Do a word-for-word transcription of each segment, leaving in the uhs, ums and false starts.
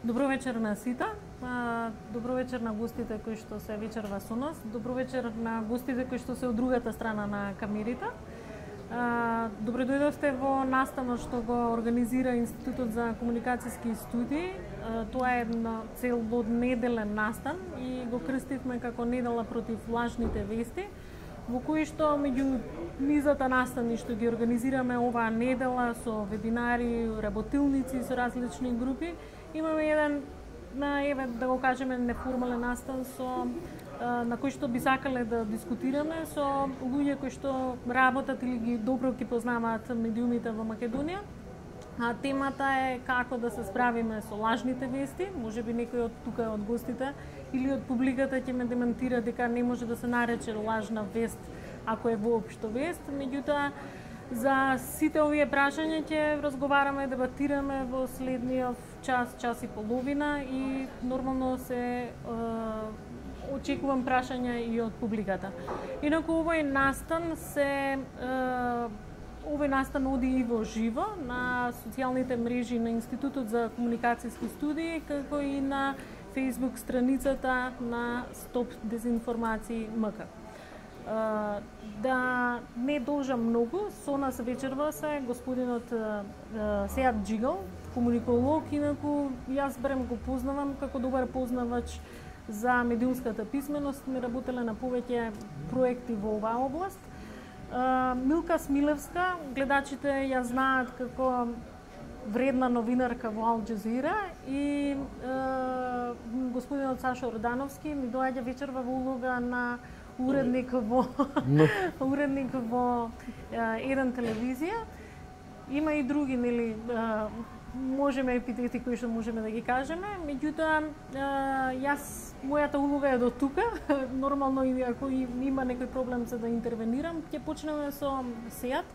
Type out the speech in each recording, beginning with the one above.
Добро вечер на сите. Добро вечер на гостите кои што се вечерва со нас. Добро вечер на гостите кои што се од другата страна на камерите. Добро дојдовте во настанот што го организира Институтот за комуникацијски студии. Тоа е една целодневен настан и го крстивме како недела против лажните вести, во кои што меѓу низата настани што ги организираме оваа недела со вебинари, работилници со различни групи, имаме еден, на еве да го кажеме, неформален настан со на кој што би сакале да дискутираме со луѓе кои што работат или ги добро ги познаваат медиумите во Македонија. А темата е како да се справиме со лажните вести. Можеби некој од тука од гостите или од публиката ќе ме демантира дека не може да се нарече лажна вест ако е воопшто вест. Меѓутоа, за сите овие прашања ќе разговараме, дебатираме во следниот час, час и половина и нормално се е, очекувам прашања и од публиката. Инаку овој настан се е, овој настан оди и во живо на социјалните мрежи на Институтот за комуникацијски студии, како и на Facebook страницата на Стоп дезинформации МК. Uh, да не должам многу, со нас вечерва се господинот uh, Сеат Джигал, комуниколог, инаку јас барем го познавам како добар познавач за медиумската писменост, ми работеле на повеќе проекти во оваа област. Uh, Милка Смилевска, гледачите ја знаат како вредна новинарка во Ал Джазира и uh, господинот Сашо Ордановски ми доаѓа вечерва во улога на уредник во no. уредник во еден телевизија. Има и други, нели, можеме епитети кои што можеме да ги кажеме, меѓутоа јас мојата улога е до тука. Нормално и ако има некој проблем за да интервенирам, ќе почнеме со Сеат.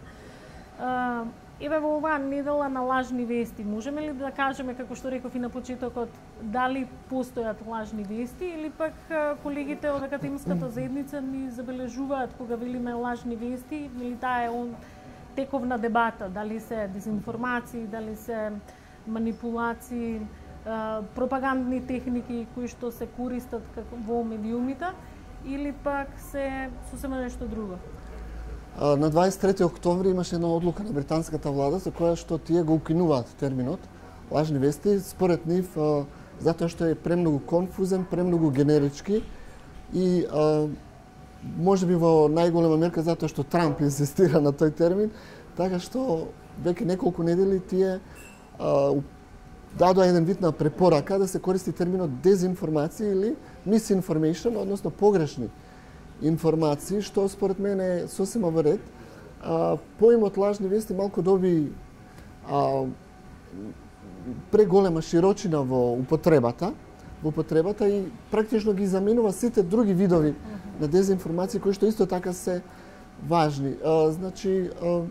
Еве во оваа недела на лажни вести, можеме ли да кажеме, како што реков и на почетокот, дали постојат лажни вести или пак колегите од академската заедница ни забележуваат кога велиме лажни вести, или таа е он тековна дебата, дали се дезинформации, дали се манипулации, пропагандни техники кои што се користат во медиумите, или пак се сосема нешто друго. На дваесет и трети октомври имаше една одлука на британската влада за која што тие го укинуваат терминот лажни вести, според нив затоа што е премногу конфузен, премногу генерички и можеби во најголема мерка затоа што Трамп инсистира на тој термин, така што веќе неколку недели тие дадоа еден вид на препорака да се користи терминот дезинформација или misinformation, односно погрешни информации, што според мене е сосема во ред. Поимот лажни вести малку доби а, преголема широчина во употребата, во употребата и практично ги заменува сите други видови на дезинформации кои што исто така се важни. А, значи, а,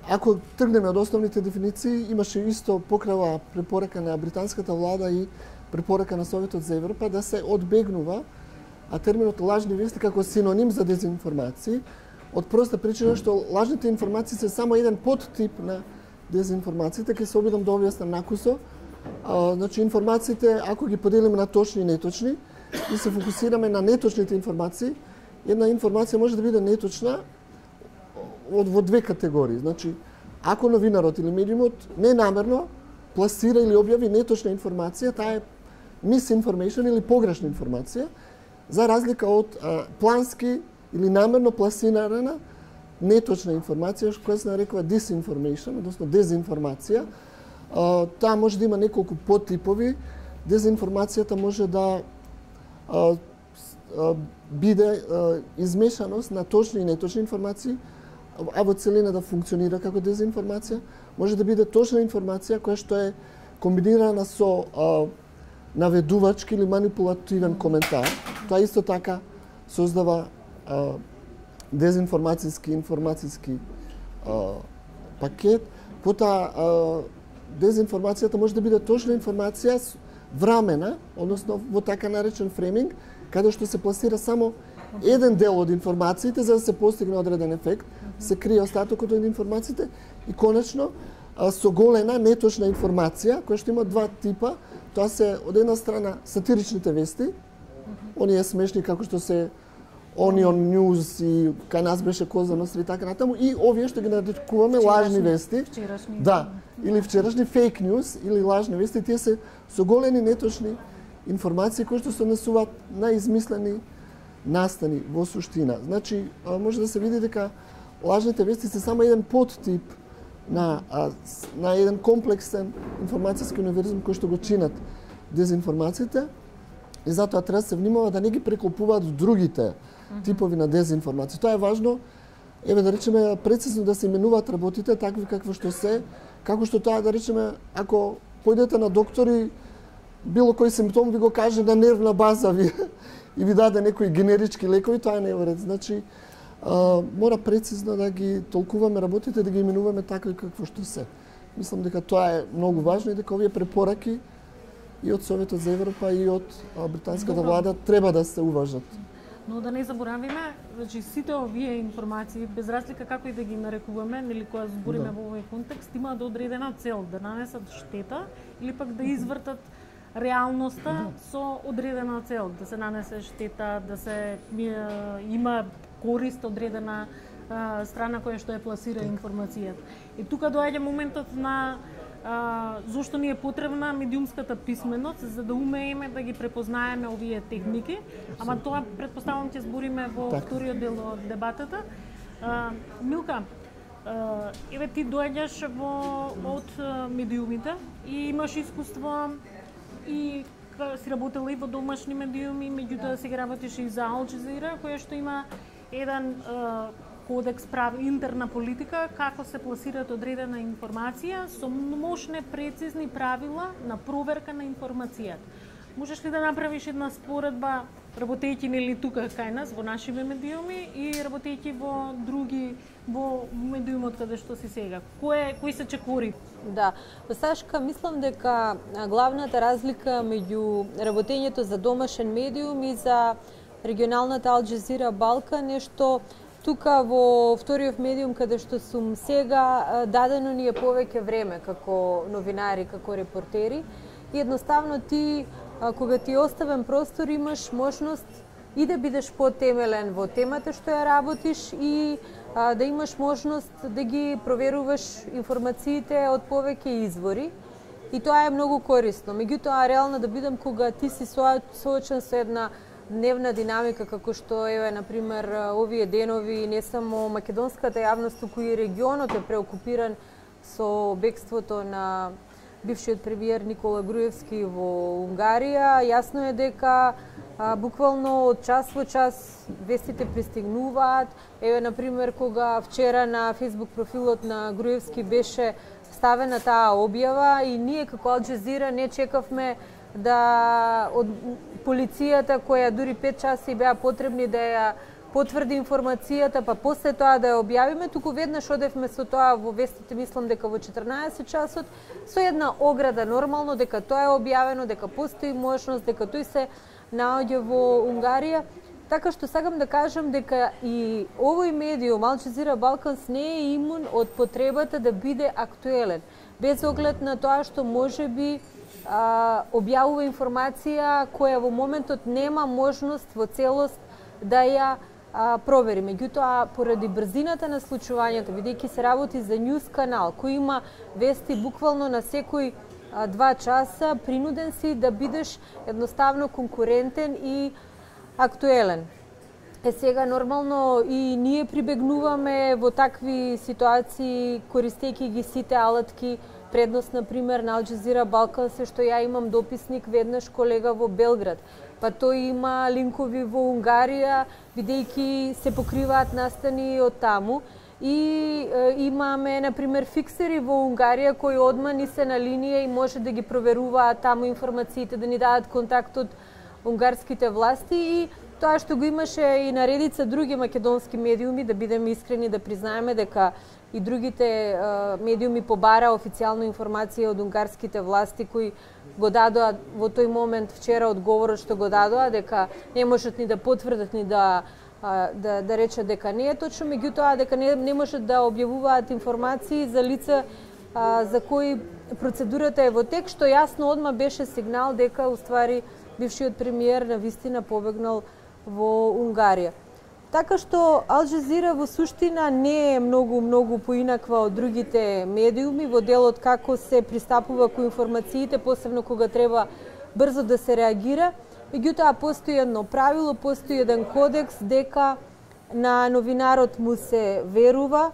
ако тргнеме од основните дефиниции, имаше исто покрава препорака на британската влада и препорака на Советот за Европа да се одбегнува а терминот лажни вести како синоним за дезинформации, од проста причина што лажните информации се само еден подтип на дезинформациите, ќе се обидам да објаснам накусо. А, значи, информациите, ако ги поделиме на точни и неточни, и се фокусираме на неточните информации, една информација може да биде неточна од во две категории. Значи, ако новинарот или медиумот ненамерно пласира или објави неточна информација, таа е misinformation или погрешна информација, за разлика од а, плански или намерно пласирана неточна информација, која се нарекува disinformation, односно дезинформација. А, таа може да има неколку подтипови. Дезинформацијата може да а, а, биде а, измешаност на точни и неточни информации, а во целина да функционира како дезинформација. Може да биде точна информација која што е комбинирана со а, наведувачки или манипулативен коментар. Тоа исто така создава а, дезинформацијски информацијски а, пакет. Потоа дезинформацијата може да биде точна информација врамена, односно во така наречен фрейминг, каде што се пласира само еден дел од информациите за да се постигне одреден ефект, се крие остатокот од информациите и конечно соголена, неточна информација, која што има два типа. Тоа се од една страна сатиричните вести, оние смешни како што се Onion News и кај нас беше Коза Ностра и така натаму, и овие што ги нарекуваме лажни вести. Вчерашни. Да, или вчерашни фейк news или лажни вести, тие се соголени, неточни информации кои што се однесуваат на измислени настани во суштина. Значи, може да се види дека лажните вести се само еден подтип на, на еден комплексен информацијски универзум кој што го чинат дезинформациите, и затоа треба да се внимава да не ги преклопуваат другите типови на дезинформација. Тоа е важно, еве да речеме, прецизно да се именуваат работите такви какво што се, како што тоа, да речеме, ако појдете на доктори, било кој симптом ви го каже на нервна база ви и ви даде некои генерички лекови, тоа не е во ред. Значи, а, мора прецизно да ги толкуваме работите, да ги именуваме такви какво што се. Мислам дека тоа е многу важно и дека овие препораки и од Советот за Европа и од британската влада треба да се уважат. Но да не заборавиме, значи сите овие информации, без разлика како и да ги нарекуваме, нели кога збориме да. Во овој контекст, имаат одредена цел, да нанесат штета или пак да извртат реалноста да. Со одредена цел, да се нанесе штета, да се има корист одредена а, страна која што е пласира информацијата. И тука доаѓа моментот на а, зошто ни е потребна медиумската писменост, за да умееме да ги препознаеме овие техники, ама тоа претпоставувам ќе збориме во так. Вториот дел од дебатата. А, Милка, а, еве ти доаѓаш во од медиумите и имаш искуство и си работела и во домашни медиуми, меѓутоа сега работиш и за Ал Джазира, која што има еден а, кодекс прав интерна политика како се пласираат одредена информација со мощни прецизни правила на проверка на информацијата. Можеш ли да направиш една споредба работејќи нели тука кај нас во нашиве медиуми и работејќи во други во медиумот каде што си сега? Кој кои се чекори? Да, Сашка, мислам дека главната разлика меѓу работењето за домашен медиум и за регионалната Ал Джазира Балкан е што тука во вториот медиум каде што сум сега, дадено ни е повеќе време како новинари, како репортери и едноставно ти, кога ти оставен простор, имаш можност и да бидеш потемелен во темата што ја работиш и а, да имаш можност да ги проверуваш информациите од повеќе извори. И тоа е многу корисно. Меѓутоа, реално да бидам кога ти си соочен со една дневна динамика, како што е, например, овие денови, не само македонската јавност, туку и регионот е преокупиран со бегството на бившиот премиер Никола Груевски во Унгарија. Јасно е дека а, буквално од час во час вестите пристигнуваат. Еве, например, кога вчера на фејсбук профилот на Груевски беше ставена таа објава и ние како Ал Джазира не чекавме да од полицијата која дури пет часи беа потребни да ја потврди информацијата, па после тоа да ја објавиме, туку веднаш одевме со тоа во вестите, мислам дека во четрнаесет часот, со една ограда нормално дека тоа е објавено, дека постои можност, дека тој се наоѓа во Унгарија. Така што сакам да кажам дека и овој медиум, Ал Джазира Балканс, не е имун од потребата да биде актуелен, без оглед на тоа што може би а, објавува информација која во моментот нема можност во целост да ја а, провери. Меѓутоа, поради брзината на случувањето, бидејќи се работи за нјуз канал, кој има вести буквално на секој а, два часа, принуден си да бидеш едноставно конкурентен и актуелен. Е сега нормално и ние прибегнуваме во такви ситуации користејќи ги сите алатки. Предност, например, на Ал Джазира Балкан се што ја имам дописник веднаш колега во Белград, па тој има линкови во Унгарија, бидејќи се покриваат настани од таму. И е, имаме, например, фиксери во Унгарија кои одма ни се на линија и може да ги проверуваат таму информациите, да ни дадат контакт од унгарските власти и тоа што го имаше и на редица други македонски медиуми, да бидеме искрени да признаеме дека и другите е, медиуми побара официјална информација од унгарските власти кои го дадоа во тој момент вчера одговорот што го дадоа дека не можат ни да потврдат ни да да да речат дека не е точно, меѓутоа дека не, не можат да објавуваат информации за лица а, за кои процедурата е во тек, што јасно одма беше сигнал дека уствари бившиот премиер на вистина побегнал во Унгарија. Така што Ал Джазира во суштина не е многу многу поинаква од другите медиуми во делот како се пристапува кон информациите, посебно кога треба брзо да се реагира. Меѓутоа постои едно правило, постои еден кодекс дека на новинарот му се верува,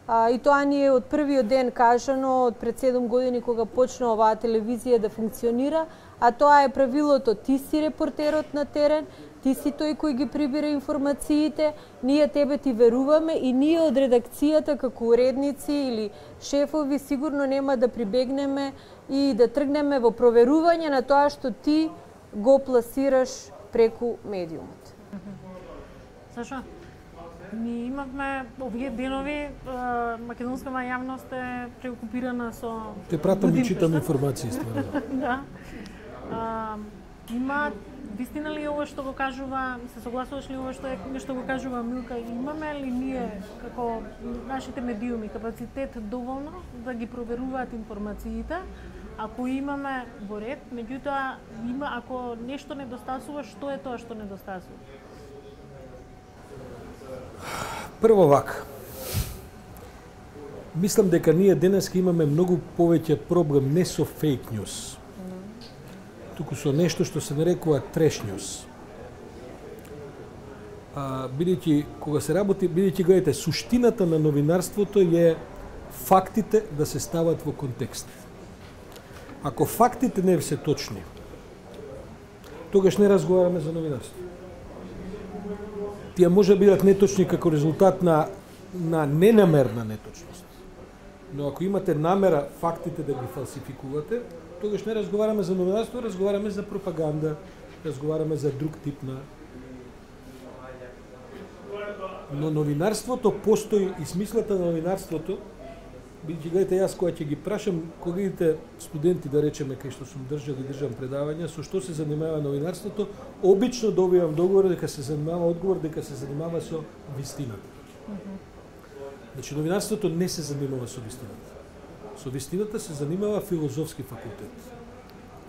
а, и тоа ни е од првиот ден кажано, од пред седум години кога почна оваа телевизија да функционира, а тоа е правилото: ти си репортерот на терен, ти си тој кој ги прибира информациите, ние тебе ти веруваме и ние од редакцијата како уредници или шефови сигурно нема да прибегнеме и да тргнеме во проверување на тоа што ти го пласираш преку медиумот. Саша, ние имавме овие денови, македонска јавност е преокупирана со... Те пратам и читам информации, стварно. Да. А, има, вистина ли ова што го кажува, се согласуваш ли ова што е што го кажува Милка, имаме ли ние како нашите медиуми капацитет доволно да ги проверуваат информациите? Ако имаме во ред, меѓутоа има, ако нешто недостасува, што е тоа што недостасува? Прво вака. Мислам дека ние денеска имаме многу повеќе проблем не со фейк ньюс, туку со нешто што се нарекува треш ньюс. А, бидејќи, кога се работи, бидејќи гледате, суштината на новинарството е фактите да се стават во контекст. Ако фактите не се точни, тогаш не разговараме за новинарство. Тие може да бидат неточни како резултат на, на ненамерна неточност. Но ако имате намера фактите да ги фалсификувате, тогаш не разговараме за новинарство, разговараме за пропаганда, разговараме за друг тип на... Но новинарството постои и смислата на новинарството, бидејќи гледате, јас кога ќе ги прашам колегите студенти, да речеме, кај што сум држал и држам предавања, со што се занимава новинарството, обично добивам договор дека се занимава одговор дека се занимава со вистината. Mm-hmm. Значи новинарството не се занимава со вистината. Со вистината се занимава филозофски факултет.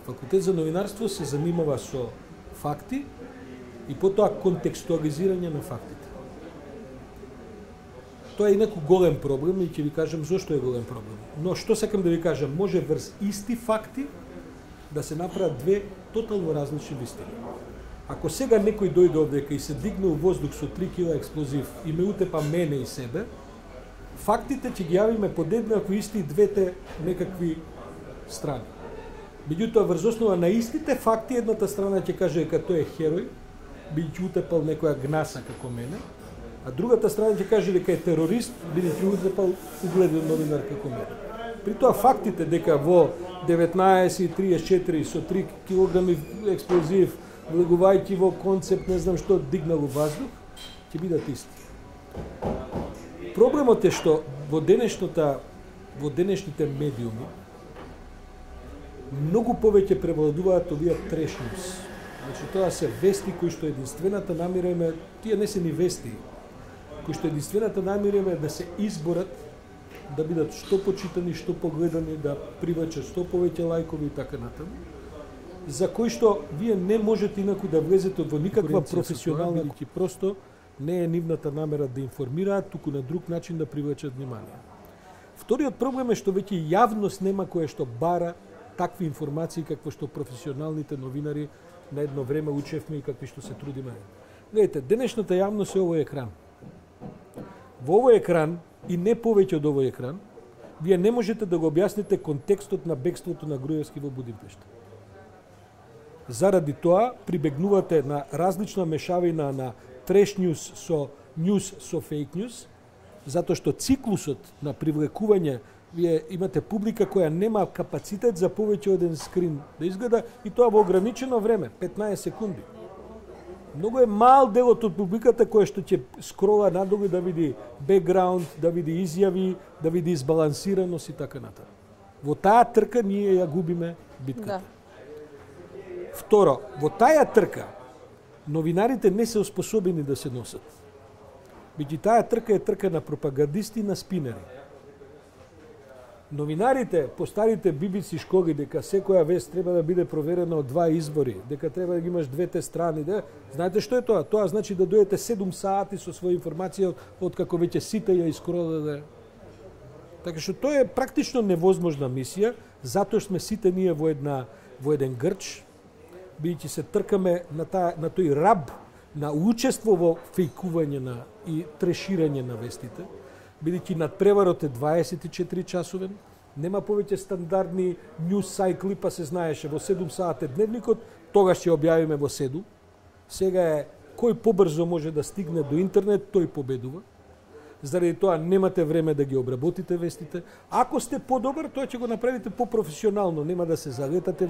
Факултет за новинарство се занимава со факти и потоа контекстуализирање на фактите. Тоа е инаку голем проблем и ќе ви кажам зошто е голем проблем. Но што сакам да ви кажам, може врз исти факти да се направат две тотално различни вистини. Ако сега некој дојде овдека и се дигне у воздух со три кила експлозив и ме утепа мене и себе, фактите ќе ги јавиме подеднакво исти двете некакви страни. Меѓутоа, врз основа на истите факти, едната страна ќе каже дека тој е херој, бидејќи утепал некоја гнаса како мене, а другата страна ќе каже дека е терорист, бидејќи утепал угледен новинар како мене. При тоа фактите дека во деветнаесет и триесет и четири со три килограми експлозив, влегувајќи во концепт, не знам што, дигнал ваздух, ќе бидат исти. Проблемот е што во денешната, во денешните медиуми многу повеќе превладуваат овие треш ньюс. Значи тоа се вести кои што единствената намира е, тие не се ни вести, кои што единствената намира е да се изборат, да бидат што почитани, што погледани, да привлечат што повеќе лајкови и така натаму, за кои што вие не можете инаку да влезете во никаква професионална, бидејќи просто не е нивната намера да информираат, туку на друг начин да привлечат внимание. Вториот проблем е што веќе јавност нема која што бара такви информации какво што професионалните новинари на едно време учевме и какви што се трудиме. Гледайте, денешната јавност е овој екран. Во овој екран и не повеќе од овој екран, вие не можете да го објасните контекстот на бегството на Груевски во Будимпешта. Заради тоа прибегнувате на различна мешавина на треш ньюс со ньюс со фейк ньюс, затоа што циклусот на привлекување, вие имате публика која нема капацитет за повеќе од еден скрин да изгледа и тоа во ограничено време, петнаесет секунди. Многу е мал делот од публиката која што ќе скрола надолу да види бекграунд, да види изјави, да види избалансираност и така натаму. Во таа трка ние ја губиме битката. Да. Второ, во таа трка новинарите не се оспособени да се носат. Бидејќи таа трка е трка на пропагандисти и на спинери. Новинарите по старите би би си школи дека секоја вест треба да биде проверена од два извори, дека треба да ги имаш двете страни, да. Знаете што е тоа? Тоа значи да дојдете седум сати со своја информација од како веќе сите ја искродаде. Така што тоа е практично невозможна мисија, затоа сме сите ние во една во еден грч, бидејќи се тркаме на таа на тој раб на учество во фејкување на и треширање на вестите. Бидејќи надпреварот е дваесет и четири часовен, нема повеќе стандардни news cycle, па се знаеше во седум сати дневникот, тогаш ќе објавиме во седум. Сега е кој побрзо може да стигне до интернет, тој победува. Заради тоа немате време да ги обработите вестите. Ако сте подобар, тоа ќе го направите попрофесионално, нема да се залетате